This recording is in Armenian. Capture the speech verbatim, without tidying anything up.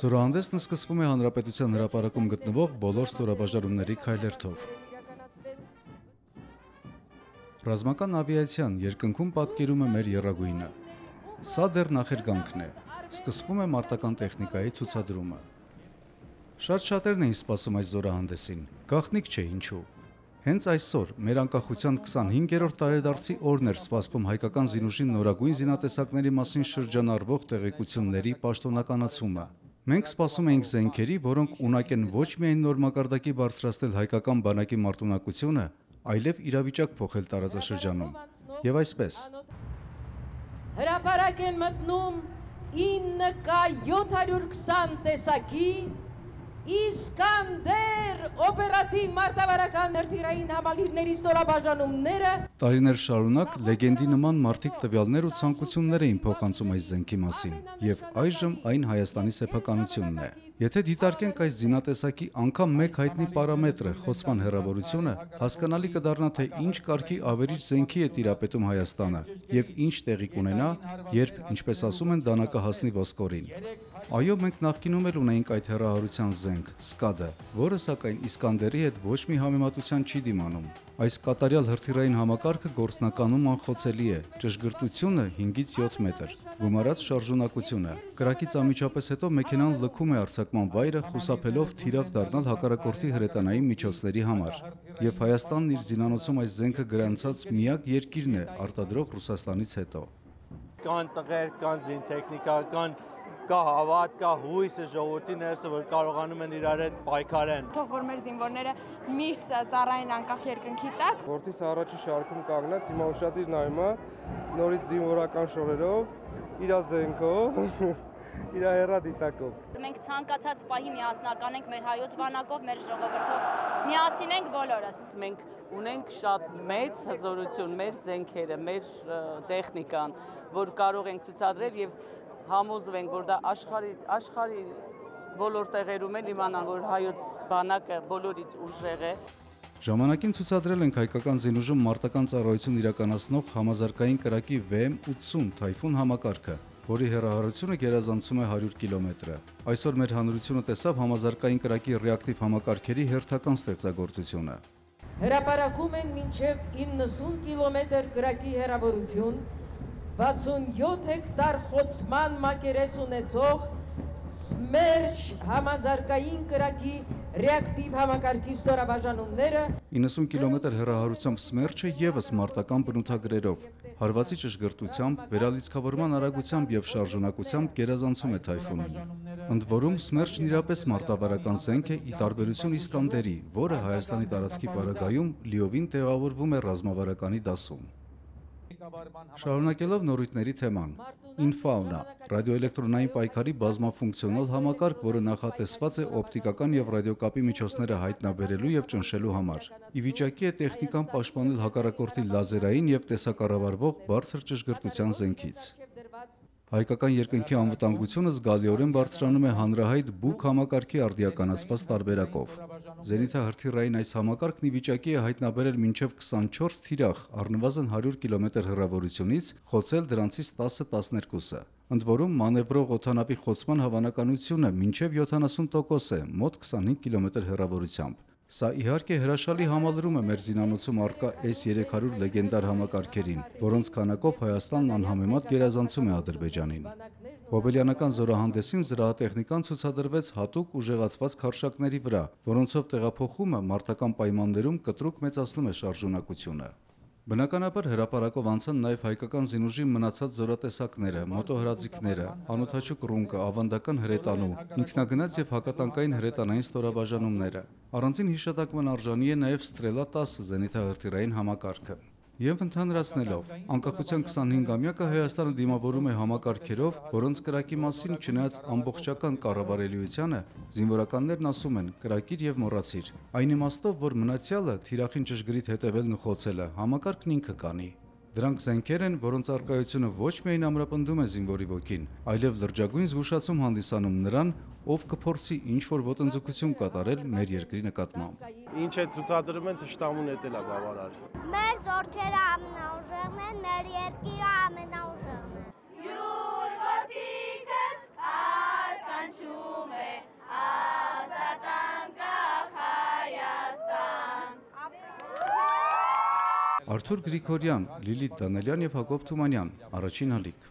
Զորահանդեսն սկսվում է Հանրապետության հրապարակում գտնվող բոլոր ստորաբաժանումների քայլերթով։ Ռազմական ավիացիան երկնքում պատկերում է մեր եռագույնը։ Սա դեռ նախերգանքն է։ Սկսվում է մարտական տեխնիկայի ցուցադրումը։ Շատ շատերն էին սպասում այս զորահանդեսին։ Գաղտնիք չէ ինչու։ Հենց այսօր մեր անկախության քսանհինգերորդ տարեդարձի օրն էր սպասվում հայկական զինուժի նորագույն զինատեսակների մասին շրջանառվող տեղեկությունների պաշտոնականացումը։ Մենք սպասում էինք զենքերի, որոնք ունակ են ոչ միայն նոր մակարդակի բարձրացնել հայկական բանակի մարտունակությունը, այլև իրավիճակ փոխել տարածաշրջանում։ Եվ այսպես։ Հրապարակ են մտնում ինը կա յոթ հարյուր քսան տեսակի Իսկանդեր օպերատիվ մարտավարական հրթիռային համալիրների ստորաբաժանումները։ Տարիներ շարունակ լեգենդի նման մարդիկ տվյալներ ու ցանկություններ էին փոխանցում այս զենքի մասին, եւ այժմ այն Հայաստանի սեփականությունն է։ Եթե դիտարկենք այս զինատեսակի անգամ մեկ հայտնի պարամետրը, խոցման հեռավորությունը, հասկանալի կդառնա, թե ինչ կարգի ավերիչ զենքի է տիրապետում Հայաստանը եւ ինչ տեղի կունենա, երբ, ինչպես ասում են, դանակը հասնի ոսկորին։ Այո, մենք նախկինում էլ ունեինք այդ հեռահարության զենք, սկադը, որը սակայն Իսկանդերի հետ ոչ մի համեմատության չի դիմանում։ Այս կատարյալ հրթիռային համակարգը գործնականում անխոցելի է, ճշգրտությունը հինգից յոթ մետր, գումարած շարժունակությունը։ Կրակից անմիջապես հետո մեքենան լքում է արձակման վայրը, խուսափելով թիրախ դառնալ հակառակորդի հրետանային միջոցների համար։ Եվ Հայաստանն իր զինանոցում այս զենքը գրանցած միակ երկիրն է արտադրող Ռուսաստանից հետո։ Կան տղեր, կան զինտեխնիկա, կան կա հավատ, կա հույսը ժողովրդի ներսը, որ կարողանում են իրար հետ պայքարեն։ Թող որ մեր զինվորները միշտ ծառայեն անկախ երկնքի տակ։ Որդիս առաջի շարքում կանգնած, հիմա ուշադիր նայում է, նորից զինվորական շորերով, իր զենքով, իր հեռադիտակով։ Մենք ցանկացած պահի միասնական ենք մեր հայոց բանակով, մեր ժողովրդով, միասին ենք բոլորս։ Մենք ունենք շատ մեծ հզորություն, մեր զենքերը, մեր տեխնիկան, որ կարող ենք ցուցադրել եւ համոզվենք, որ դա աշխարհի աշխարհի բոլոր տեղերում էլ իմանան, որ հայոց բանակը բոլորից ուժեղ է։ Ժամանակին ցուցադրել ենք հայկական զինուժում մարտական ծառայություն իրականացնող համազարգային կրակի V M ութսուն Թայֆուն համակարգը, որի հեռահարությունը գերազանցում է հարյուր կիլոմետրը։ Այսօր մեր հանրությունը տեսավ համազարգային կրակի ռեակտիվ համակարգերի հերթական ստեղծագործությունը։ Հրապարակում են մինչև իննսուն կիլոմետր կրակի հեռավորություն, վաթսունյոթ հեկտար խոցման մակերես ունեցող Սմերջ համազարգային կրակի ռեակտիվ համակարգի ստորաբաժանումները իննսուն կիլոմետր հեռահարությամբ Սմերջը ևս մարտական բնութագրերով, հարվածի ճշգրտությամբ, վերալիցքավորման արագությամբ եւ շարժունակությամբ գերազանցում է Թայֆունին։ Ընդ որում Սմերջն իրապես մարտավարական զենք է ի տարբերություն Իսկանդերի, որը Հայաստանի տարածքի պարագայում լիովին տեղավորվում է ռազմավարականի դասում։ Շարունակելով նորույթների թեման, Ինֆաունա, ռադիոէլեկտրոնային պայքարի բազմաֆունկցիոնալ համակարգ, որը նախատեսված է օպտիկական եւ ռադիոկապի միջոցները հայտնաբերելու եւ ճնշելու համար։ Ի վիճակի է տեխնիկան պաշտպանել հակառակորդի լազերային եւ տեսակառավարվող բարձր ճշգրտության զենքից։ Հայկական երկնքի անվտանգությունը զգալիորեն բարձրանում է հանրահայտ բուկ համակարգի արդիականացված տարբերակով։ Զենիթահրթիռային այս համակարգն ի վիճակի է հայտնաբերել մինչև քսանչորս թիրախ, առնվազն հարյուր կիլոմետր հեռավորությունից, խոցել դրանցից տասը տասներկուսը։ Ընդ որում մանևրող օդանավի խոցման հավանականությունը մինչև յոթանասուն տոկոս է, մոտ քսանհինգ կիլոմետր հեռավորությամբ։ Սա իհարկե հրաշալի համալրում է մեր զինանոցում առկա S երեք հարյուր լեգենդար համակարգերին, որոնց քանակով Հայաստանն անհամեմատ գերազանցում է Ադրբեջանին։ Հոբելյանական զորահանդեսին զրահատեխնիկան ցուցադրվեց հատուկ ուժեղացված քարշակների վրա, որոնցով տեղափոխումը մարտական պայմաններում կտրուկ մեծացնում է շարժունակությունը։ Բնականաբար հրապարակով անցան նաև հայկական զինուժի մնացած զորատեսակները, մոտոհրաձիգները, անօդաչու կռունկը, ավանդական հրետանու, ինքնագնաց եւ հակատանկային հրետանային ստորաբաժանումները։ Առանձին հիշատակման արժանի է նաև Ստրելա տասը զենիթահրթիռային համակարգը։ Եվ ընդհանրացնելով, անկախության քսանհինգամյակը Հայաստանը դիմավորում է համակարգերով, որոնց կրակի մասին չնայած ամբողջական կառավարելիությանը, զինվորականներն ասում են՝ կրակիր եւ մոռացիր։ Այն իմաստով, որ մնացյալը թիրախին ճշգրիտ հետևելն ու խոցելը համակարգն ինքը կանի։ Դրանք զենքեր են, որոնց առկայությունը ոչ միայն ամրապնդում է զինվորի ոգին, այլև լրջագույն զգուշացում հանդիսանում նրան, ով կփորձի ինչ-որ ոտնձգություն կատարել մեր երկրի նկատմամբ։ Ինչ է ցուցադրում են թշնամուն էտել է բավարար։ Մեր զորքերը ամենաուժեղն են, մեր երկիրը ամենաուժեղն է։ Յուր որդիքը արկանչում Արթուր Գրիգորյան, Լիլիթ Դանելյան եւ Հակոբ Թումանյան, Առաջին հալիք։